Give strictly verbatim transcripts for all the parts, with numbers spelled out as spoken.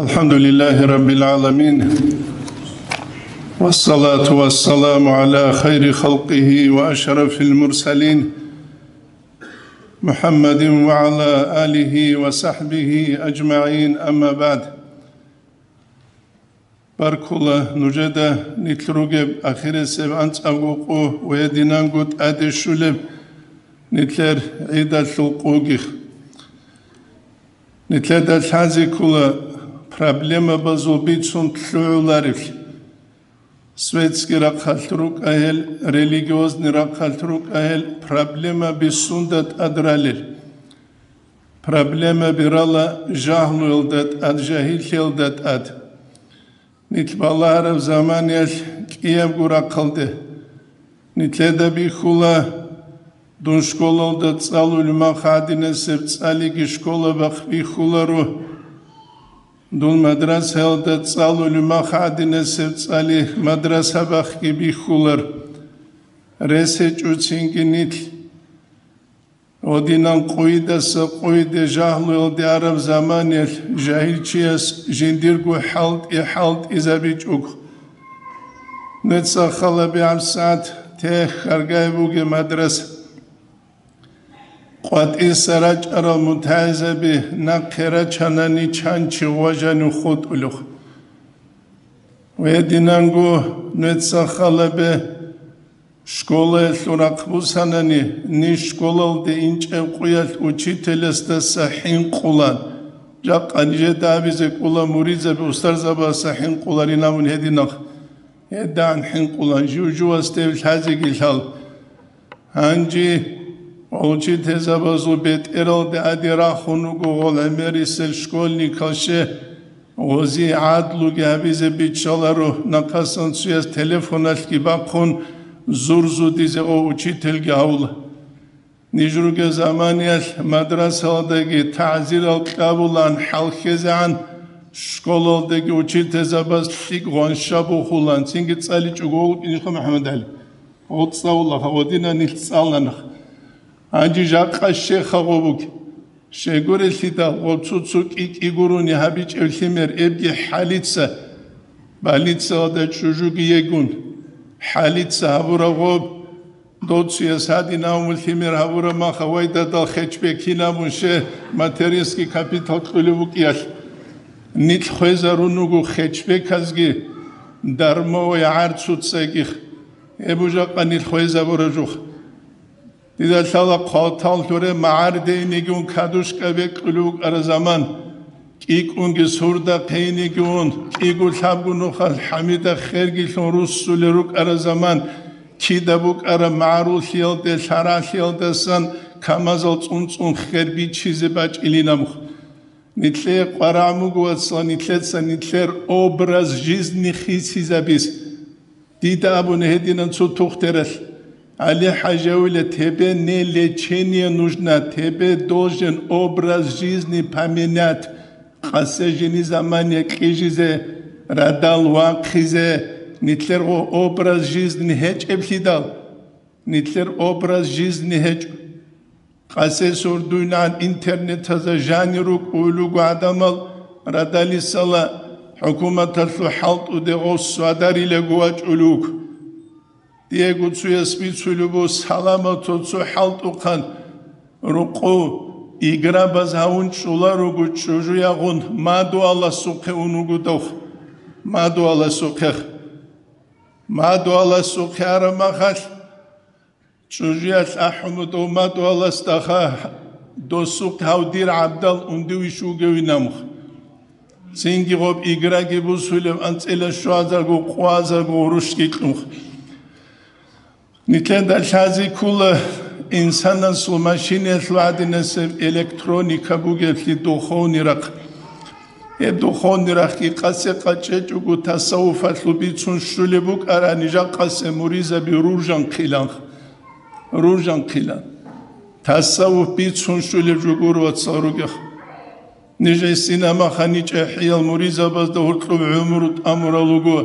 الحمد لله رب العالمين، والصلاة والسلام على خير خلقه وأشرف المرسلين، محمد وعلى آله وصحبه أجمعين، أما بعد. Баркула нужеда нилъ ругеб ахирисеб анцӀабго къо ва гьединанго тӀаде щулеб нилъер гӀидалъул къоги. Нилъеда лъазе ккола проблемабазул бицун лъугӀуларевлъи. Светский рахъалъ рукӀа гьел, религиозный рахъалъ рукӀа гьел, проблемаби сунда тӀад ралел? Проблемаби рала жагьлуялда тӀад, жагьиллъиялда тӀад. Нилъ балагьараб заманиялъ кӀиябго рахъалде нилъеда бихьула, дун школалда цӀалулеб мах гьадинасеб цӀалиги школабахъ бихьуларо, дун мадрасаялда цӀалулеб мах гьадинасеб цӀали мадрасабахъги бихьулар. Рес гьечӀоцинги нилъ Гьодинан къойидаса къойиде жагьлуялде араб заманиялъ жагьилчияс жиндирго хӀалтӀи-хӀалтӀизабичӀого. Нуца халабигӀаб сагӀат те хьаргай бугеб мадраса. КъватӀиса рачӀарал мутагӀилзаби нахъе рачанани чанчи гъважанив хутӀулев. Гьединанго нуца халабе Школаялъул рахъ бусанани, ниж школалде инчӀеб къуялъ учителасдаса хӀинкъулан, жакъа нижеда абизе кӀола муридзаби устарзабазаса хӀинкъуларин абун гьединахъ. ГьедагӀан хӀинкъулан жив-живасде лъазеги лъал. Гьанже учителзабазул бетӀералде аде рахун руго гъол гӀемерисел школьникал, ще Гъози гӀадлуги гьабизе биччаларо, нахъасан цуяс телефоналъги бахъун, зурзудизе гъо учительги гьавула. Ниж ругел заманиялъ мадрасаялдаги тагӀзирал кьабулан хӀалхьезегӀан, школалдаги учительзабаз лъикӀ гъванша бухулан, цинги цӀаличӀого вукӀинха МухӀаммадгӀали. ГъоцӀавулаха, гъодина нилъ цӀаланах. Гьанже жакъа щеха гъо буги. Щегурелъидал гъо цо-цо кӀи-кӀи гурони гьабичӀеб лъимер эбги хӀалица, больницаялда чӀужуги йегун. ХӀалица гьабураб гъоб, доцуяс гьадин авму лъимер гьабураб мах авайдадал хетчбекин абун, ще материнский капитал кьулеб букӀиялъ. Нилъ хвезарун руго хетчбеказги, дармовая гӀарцуцаги. Гьеб жакъа нилъ хвезабураб жух. Дида лъала хъалтал лъуре магӀардейнигун кадушка бекьулев вукӀара заман, кӀикӀунги сурда хъейнигун, кӀиго лъабго нухалъ хӀамида хергилъун руссулел рукӀара заман, кида букӀара магӀаруллъиялде лъаралъиялдасан камазал цӀун-цӀун хер бичизе бачӀилинаб. Нилъее къварагӀ буго, вацал, нилъеца нилъер образ жизни хисизабиз. Дида абуна гьединан цо тухтералъ: «ГӀали-хӀажи, тебе не лечение нужно, тебе должен образ жизни поменять». Къасе жини заман якьижизе, радал вахъизе, нилъер гъо образ жизни гьечӀеблъидал, нилъер образ жизни гьечӀо. Къасе сордуйнан интернетазда жанир рукӀуй руго гӀадамал, радалисала хӀукуматалъул хӀалтӀуде гъос свадарилаго вачӀулев вуго. Диего цуяс бицулеб буго, саламатал цо хӀалтӀухъан рукъу играбаз гьавун чӀуларуго чӀужуягъун мадуаласухъе ун вуго дов. Мадуаласухъех. Мадуаласухъе араб махалъ, ЧӀужуялъ ахӀун дов мадуаласдаха, досухъ гьав дир гӀабдал ундуе вугевин абун. Цинги гъоб играги бусулеб анцӀила щвазарго, къвазарго гъурущги кьун. Нилъеда лъазе ккола инсанасул машинаялъул гӀадинасеб электроника бугеблъи духовный рахъ. Гьеб духовный рахъги къасе къачӀечӀого тасаввуфалъул бицун щулеб букӀарани, жакъасе муридзаби ружанхъилан. Ружанхъилан. Тасаввуф бицун щулеб жо гуро, вацал, ругех. Ниж гӀисинамаха ничӀехӀиял муридзабазда гьоркьоб гӀумру тӀамурал руго.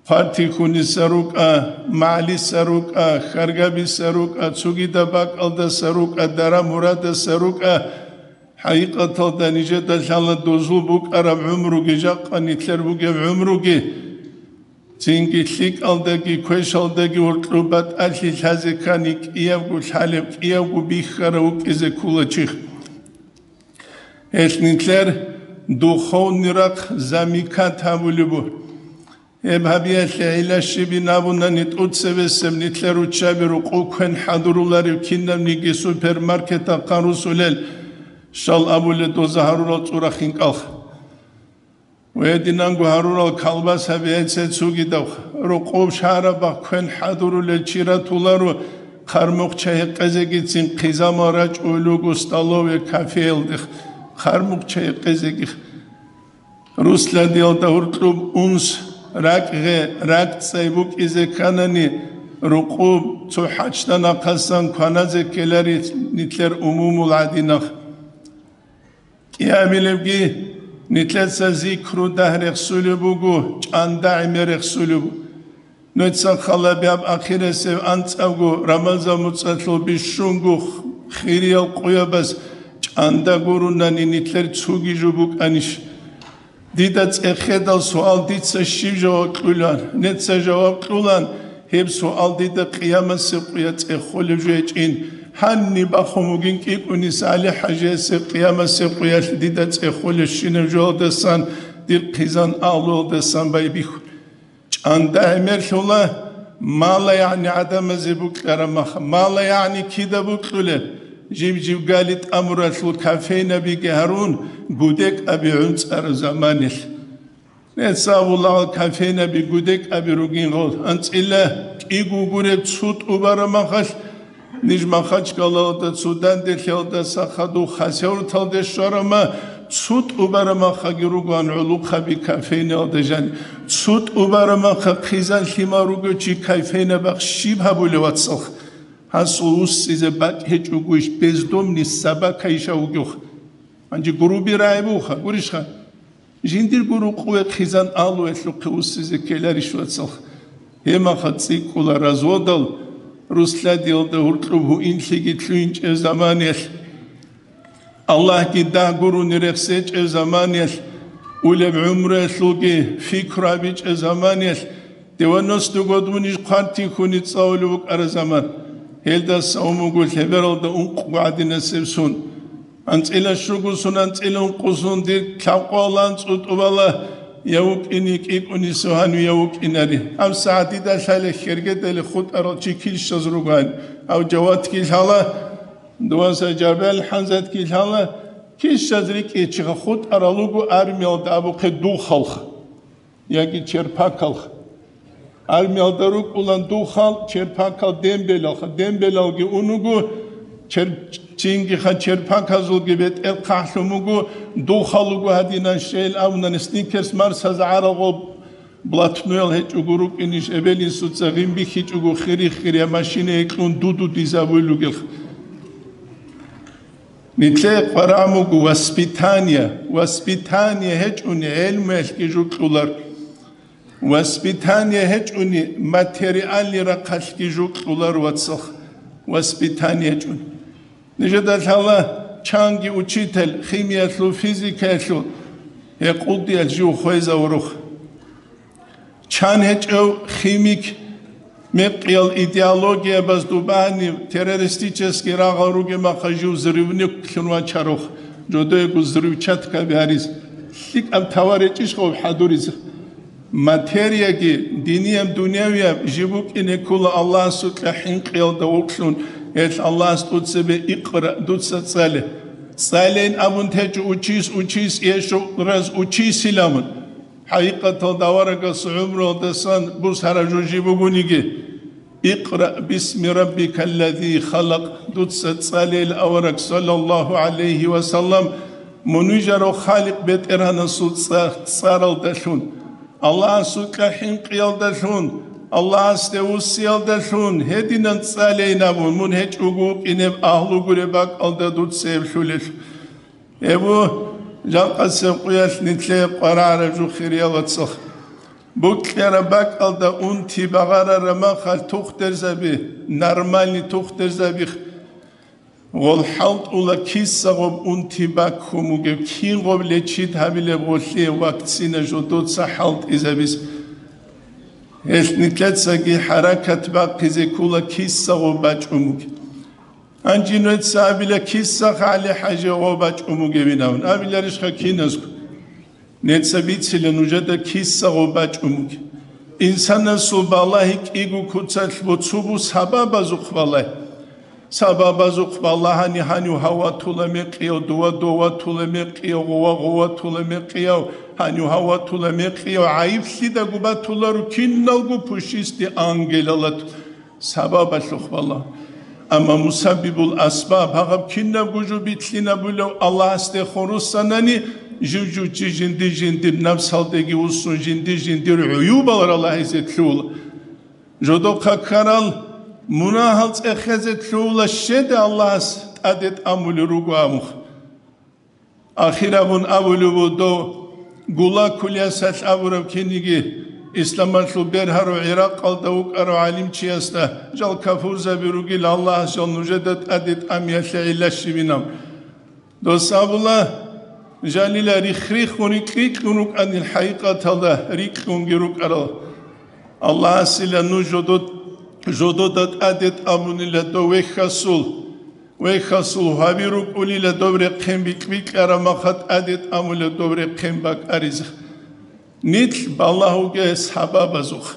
Фатихуниса рукӀа, МагӀалиса рукӀа, Харгабиса рукӀа, цогидаб бакӀалдаса рукӀа, Дара Мурадаса рукӀа, ХӀакъикъаталда нижеда лъала дозул букӀараб гӀумруги, жакъа нилъер бугеб гӀумруги, цинги лъикӀалдаги квешалдаги гьоркьоб батӀалъи лъазе ккани, кӀиябго лъалеб, кӀиябго бихьарав вукӀизе ккола чи. Гьелъ нилъер духовный рахъ замикат гьабулеб буго. Гьеб гьабиялъе гӀилла щибин абунани, тӀоцебесеб нилъер руччаби рукъу квен хӀадуруларев кинабниги супермаркетахъан русулел щал абулел доза гьарурал цӀурахъин кӀалха. Ва гьединанго гьарурал колбасаби гьецин цугидавха. Рукъуб шагьарабахъ квен хӀадурулел чи ратуларо, хъармухъ чай гьекъезегицин хъизамал рачӀунел руго столовая, кафеялдех, хъармухъ чай гьекъезегих. Русладиялда гьоркьоб унс, ракӀгӀе, ракӀцӀцӀай букӀизе кканани, рукъуб цо хӀачда нахъасан кваназе ккелари нилъер умумул гӀадинах. КӀиабилебги, нилъеца зикру дагь рехсулеб буго, чӀанда гӀемер рехсулеб буго. Нужеца хал гьабе, гьаб ахирисеб анцӀабго Рамазан муцӀалъул бищунго хириял къоябаз чӀанда гурунани нилъер цуги жо букӀанищ? Дида цӀехедал суал дица щиб жаваб кьулан? Неца жаваб кьулан, гьеб суал дида къиямасеб къуя цӀехолеб жо гьечӀин. Гьаниб бахун бугин КӀикӀуни СалихӀ хӀажиясе къиямасеб къуялъ дида цӀехолебщинаб жоялдасан, дир хъизан агьлуялдасан байбихьун. ЧӀанда гӀемерлъула, мала-ягӀни гӀадамазе букьараб мах, мала-ягӀни кида букьулеб, жиб-жиб гали тӀамуралъул кофейнабиги гьарун, гудекӀаби гӀунцӀараб заманалъ. Нецаулал кофейнаби гудекӀаби ругин гъол, анцӀила кӀиго гуреб цо тӀубараб махалъ, ниж Махачкалалда, цо Данделъиялдаса хадув Хасавюрталде щварама, цо тӀубараб махаги ругоан гӀолохъаби кофейнаялда жани. Цо тӀубараб маха хъизан лъимал ругев чи кофейнабахъ щиб гьабулев, вацалха? Гьасул уссизе бакӀ гьечӀогойищ, бездомный собака ищ вугевха? Гьанже гуруби рагӀи буха, гурищха? Жиндирго рукъуве хъизан агьлуялъухъе уссизе ккеларищ, вацалха? Гьеб маха цӀикӀкӀула разводал, Русладиялда гьоркьоб гьуинлъиги лъугьинчӀеб заманаялъ, Аллагьги дагь гурони рехсечӀеб заманаялъ, улеб гӀумруялъулги пикру гьабичӀеб заманаялъ, девяностый год муниж хъван тихьуни цӀалулев вукӀараб заман. Гьелдаса умуго лъебералда ункъго гӀадинасеб сон. АнцӀила щуго сон, анцӀила ункъо сон дир лъабкъоялда анцӀу тӀубала, я вукӀине кӀикӀуни сугьанви, я вукӀинари. ГьабсагӀат дида лъала хьергедали хутӀарал чи килщаз ругоан. Гьав Жавадги лъала, дуваса Жабел ХӀамзатги лъала, килщаз рикӀкӀинчӀиха хутӀарал руго армиялда абухъе духалха. Яги черпакалха. Армиялда рукӀулан духал, черпакал дембелалха. Дембелалги унуго, чер-, чингиха черпаказулги бетӀер хъахӀлъун буго, духал руго гьадинан щейил абунани, сникерс марсаза гӀарагъул блатнуял гьечӀого рукӀинищ, эбел-инсуца гъин бихьичӀого хири-хирия машинае кьун дуду дизабуйл ругелха. Нилъее къварагӀ буго воспитание. Воспитание гьечӀони гӀелмуялъги жо кьолар. Воспитание гьечӀони материальный рахъалъги жо кьолар, вацалха. Воспитание гьечӀони. Нижеда лъала чанги учитель химиялъул, физикаялъул, гьекъулдиялъ жив хвезавурухъ. Чан гьечӀев химик, мекъиял идеологиябазда багьанив, террористический рагъал ругеб маха жив взрывниклъун вачарухъ, жодоего взрывчаткаби гьариз. ЛъикӀаб тавар гьечӀищ гъов хӀадуризе? Материяги, динияб, дунявияб жиб букӀине ккола Аллагьасукьа хӀинкъиялда вукълъун, гьелъ Аллагьас тӀоцебе икъра, дуца цӀале. ЦӀалейин абун течӀо учись, учись, ешо раз учись иламун. ХӀакъикъаталда аварагас гӀумруялдасан бусара жо жиб бугониги, «Икъра бисми раббикаллази халакъ», дуца цӀалейил авараг, саллаллаху гӀалайхи ва саллам, мун вижарав Халикъ БетӀергьанасул цӀа-, цӀаралдалъун, Аллагьасукьа хӀинкъиялдалъун, Аллагьасде вуссиялдалъун, гьединан цӀалейин абун, мун гьечӀого вукӀинеб агьлу гуреб бакӀалда дуца гьеб лъулелъул. Гьеб жакъасеб къуялъ нилъее къварагӀараб жо, хириял вацал. Букьараб бакӀалда унти багъарараб махалъ тухдерзаби, нормальный тухдерзаби, Гъол хӀалтӀула киса гъоб унти баккун бугеб, кин гъоб лечит гьабилеб гъолъие вакцина жодоца хӀалтӀизабиз. Гьелъ нилъецаги хӀаракат бахъизе ккула киса гъоб бачӀун бугеб. Гьанже нужеца абила киса ГӀали-ХӀажи гъоб бачӀун бугебин абун. Абиларищха киназго? Нилъеца бицила нужеда киса гъоб бачӀун бугеб. Инсанасул балагьи кӀиго куцалъ боцугу сабабазухъ балагьи. Сабабазухъ балагьани гьанив гьав ватула мекъияв, дова дов ватула мекъияв, гъова гъов ватула мекъияв, гьанив гьав ватула мекъияв, гӀайиблъидаго батуларо киналго пушистей ангелалда. Сабабалъухъ балагь. Амма мусаббибул асбаб, гьаб кинабго жо битлъинабулев Аллагьасде хурусанани, жив-жив чи жинди-жиндир напсалдеги вуссун, жинди-жиндир гӀуюбал ралагьизе лъугьула. Жодохъа ккарал мунагьал цӀехезе лъугьула щеде Аллагьас тӀаде тӀамулел руго абун. Ахир абун абулеб буго дов, Гулаг кулиясалъ абураб киниги, исламалъул бергьарав ГӀиракъалда вукӀарав гӀалимчиясда, жал кафурзаби ругел, Аллагьас жал нужеда тӀаде тӀамиялъе гӀилла щибинаб. Дос абула, жалила рихх-риххун рикь-рикьун рукӀанил, хӀакъикъаталда рикьунги рукӀарал. Аллагьасила нуж жодо-, жодода тӀаде тӀамунила дов вехьасул. Вехьасул гьаби рукӀулила доб рехъен бикь-бикьараб маха тӀаде тӀамула доб рехъен бакӀаризе. Нилъ балагьуге сабабазухъ.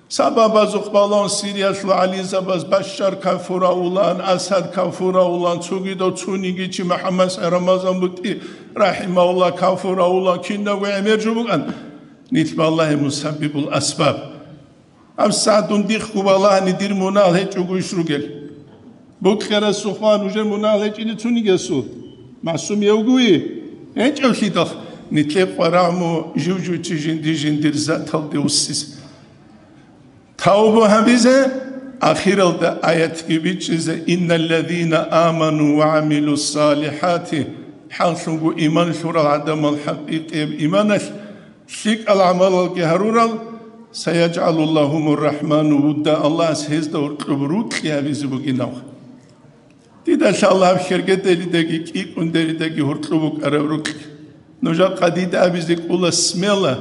Сабабазухъ балагьун Сириялъул гӀалимзабаз Башшар кафуравулан, Асад кафуравулан, цогидав цониги чи МухӀаммад Рамазан БутӀи рахӀимагьулла кафуравулан, кинабго гӀемер жо букӀан. Нилъ балагье мусаббибул асбаб. Гьаб сагӀат дун дихъго балагьани дир мунагьал гьечӀого иш ругел. Букьарасухъ нужер мунагьал гьечӀине цунигесул? Масумевгуи? ГьечӀевлъидал нилъе къварагӀму жив-жив чи жинди-жиндир заталде вуссизе. Тавбу гьабизе, ахиралда аятги бичӀчӀизе: «Инналлазина аману ва гӀамилуссалихӀати», хӀакълъунго иман лъурал гӀадамал хӀакъикъияб иманалъ лъикӀал гӀамалалги гьарурал, «СаяжгӀалу лагьумур рахӀману вудда», Аллагьас гьезда гьоркьоб рукьи гьабизе бугинав. Дида лъала гьаб хергеделидаги кӀикӀундеридаги гьоркьоб букӀараб рукьи. Нужа къадида абизе кӀула смела,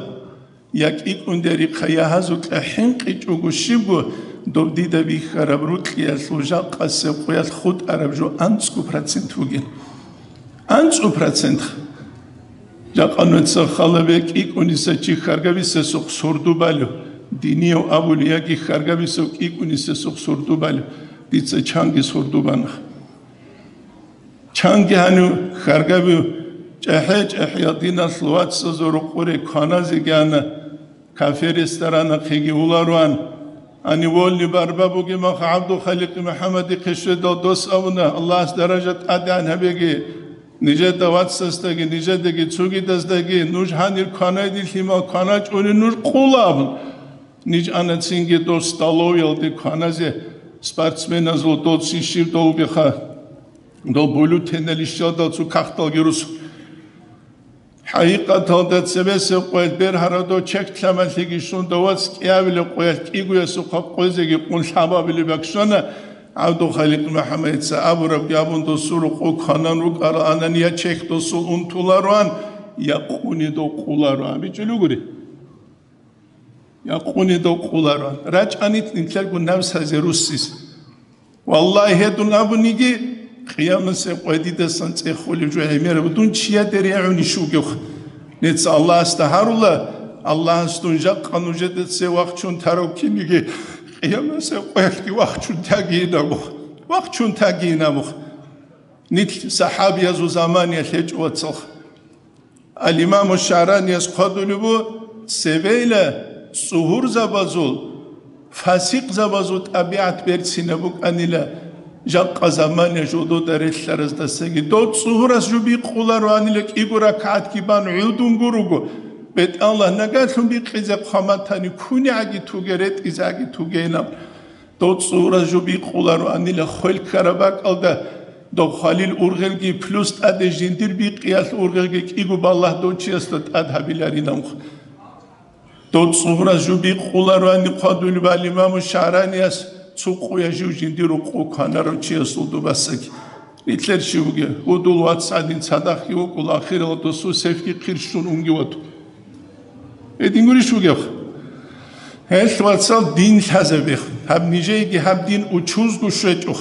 я кӀикӀундерихъа, я гьазукьа хӀинкъичӀого щибго, доб дида бихьараб рукьиялъул жакъасеб къоялъ хутӀараб жо анцӀго процент бугин. АнцӀу процент. Жакъа нуца халабе кӀикӀуниса чи хьаргабисесухъ сордубалев, динияв абулев яги хьаргабисев кӀикӀунисесухъ сордубалев, дица чанги сордубана. Чанги гьанив хьаргабив чӀехӀе-чӀехӀиял диналъул вацазул рукъуре кваназе гьана. Кафе-ресторанахъеги уларуан, гьанив волли барба бугеб маха ГӀабдулхаликъи МухӀаммадихъе щведал дос абуна, Аллагьас даража тӀадегӀан гьабеги, нижеда вацасдаги, нижедаги цогидаздаги, нуж гьанир кванайдилъимал кваначӀуни нуж къула абун. Ниж ана цинги дос столовиялде кваназе, спортсменазул доцин щиб долгиха, дол бюллетенал ищалдал цо кагъталги русу. ХӀакъикъаталда цебесеб къоялъ бергьарадо чехь лъамалъиги щун, давац кӀиабилеб къоялъ кӀигоясухъа къвезеги къун лъабабилеб бакӀ щвана. ГӀабдулхаликъ МухӀаммадица абурабги абун, досул рукъу кванан рукӀарал анани я чехь досул унтулароан, я къунидал къулароан. БичӀчӀулев гури? Я къунидал къулароан. РачӀанит нилъерго навсазе руссис. Валлагь, гьедун абуниги, къиямасеб къведидасан цӀехолеб жо гӀемераб дун чияде регӀунищ вугев. Нецц Аллагьасда гьарула, Аллагьас дун жакъа нужеда цевахчун тарав киниги, къиямасеб къвелъги вахчун тагийинабух, вахчун тагийинабух. Нилъ сахӀабиязул заманиялъ гьечӀо, вацалха. Ал-Имаму ШагӀранияс хъвадулеб бу, цевейла цӀугьурзабазул, фасикъзабазул тӀабигӀат берцинаб букӀанила, жакъа замана жодода релълъараздасаги. Дов цӀугьурас жо бикъулароанила кӀиго ракагӀатги бан гӀудун гуруго, бетӀаллагь, нагагьлъун бикъизе хъваматани кунигӀаги туге, ретӀизеги тугейилан. Дов цӀугьурас жо бикъулароанила хвел ккараб бакӀалда, дов хвалил ургъелги плюс тӀаде жиндир бикъиялъ ургъелги кӀиго балагь дов чиясда тӀад гьабиларинавха. Дов цӀугьурас жо бикъулароани хъвадулеб ал-Имаму ШагӀранияс цо къоя жив жиндир рукъу кванарав чиясул дубасаги. Нилъер щив бугеб, гьудул вацгӀадин цадахъги вукӀула, ахирал досул сефги хъирщун унги вату. Гьедин гурищ бугеб? Гьелъ, вацал, дин лъазабех. Гьаб нижееги гьаб дин учузго щвечӀох.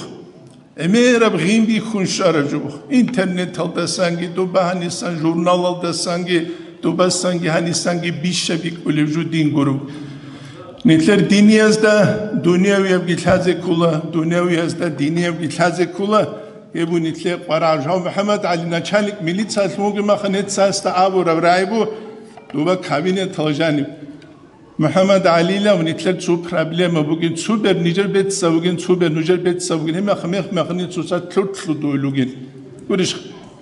ГӀемераб гъин бихьун щвараб жо бух. Интернеталдасанги, дуба гьанисан журналалдасанги, дубасанги гьанисанги бища бикӀулеб жо дин гуреб. Нилъер диниязда дунявиябги лъазе ккола, дунявиязда диниябги лъазе ккола. Гьеб нилъер къварагӀ жав МухӀаммад ГӀали, начальник милициялъун вугеб маха, нецасда абураб рагӀи бу, дуба кабинеталда жаниб. МухӀаммад ГӀалилав, нилъер цо проблема бугин, цо бер нижер бецӀцӀа бугин, цо бер нужер бецӀцӀа бугин, гьеб мех-, мех-, мехни цоца лъур-лъудуй лугин. Гурищ,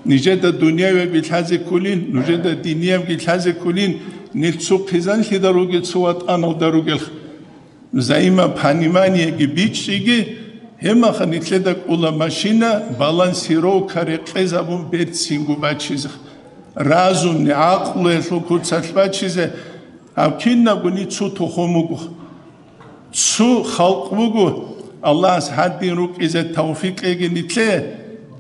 нижеда дунявиябги лъазе кколин, нужеда диниябги лъазе кколин, нилъ цо хъизанлъида ругел, цо ватӀаналда ругел. Взаимопониманиеги бичӀчӀиги, гьеб маха нилъеда кӀола машина, балансировка рекъезабун берцинго бачизе. Разумни, гӀакълуялъул куцалъ бачизе, гьаб кинабгони цо тухум буго. Цо халкъ буго, Аллагьас гьадин рукӀизе тавфикъ кьеги нилъее,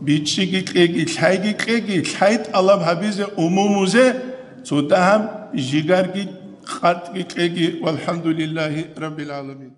бичӀчӀиги кьеги, лъайги кьеги, лъай тӀалаб гьабизе, умумузе, цо дагьаб жигарги къатӀги кьеги, валхӀамдулиллагьи раббил гӀаламин.